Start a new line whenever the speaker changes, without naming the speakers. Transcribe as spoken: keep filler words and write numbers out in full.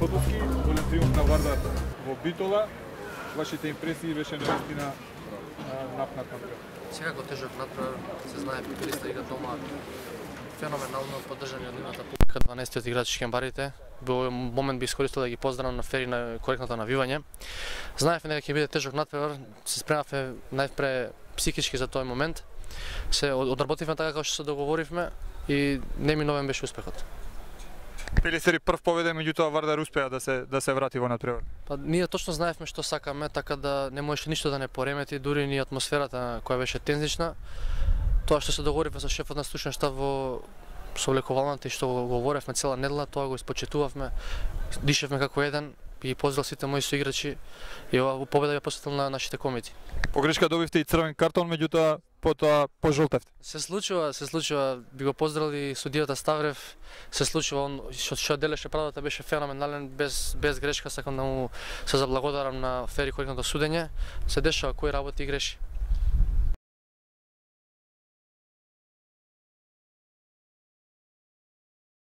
Потоцки, голем триумф на Вардар во Битола. Вашите импресии беше наистина напнат натпревар.
Секако тежок натпревар, се знае, Пипилиста игра дома феноменално поддржани од нивната публика, дванаесет играчи кембарите. Во момент би искористил да ги поздравам на фери на коректното навивање. Знаевме дека ќе биде тежок натпревар, се спремавме најпре психички за тој момент. Се одработивме така како што се договоривме и неминовен беше успехот.
Пилистери прв победа, меѓутоа Вардар успеа да се да се врати во натпревар.
Па ние точно знаевме што сакаме, така да не можеше ништо да не поремети, дури ни атмосферата која беше тензична. Тоа што се договоривме со шефот на стручен штаб во совлекувалната и што го говоревме цела недела, тоа го испочитувавме, дишевме како еден и поздрав сите мои соиграчи и ова победа ја посветил на нашите комити.
Погрешка добивте и црвен картон, меѓутоа потоа пожолтевте.
Се случува, се случува, би го поздравили судијата Ставрев, се случува, он што што делеше правдата беше феноменален, без без грешка, сакам да му се заблагодарам на фери коректното судење. Се дешава кој работи и греши.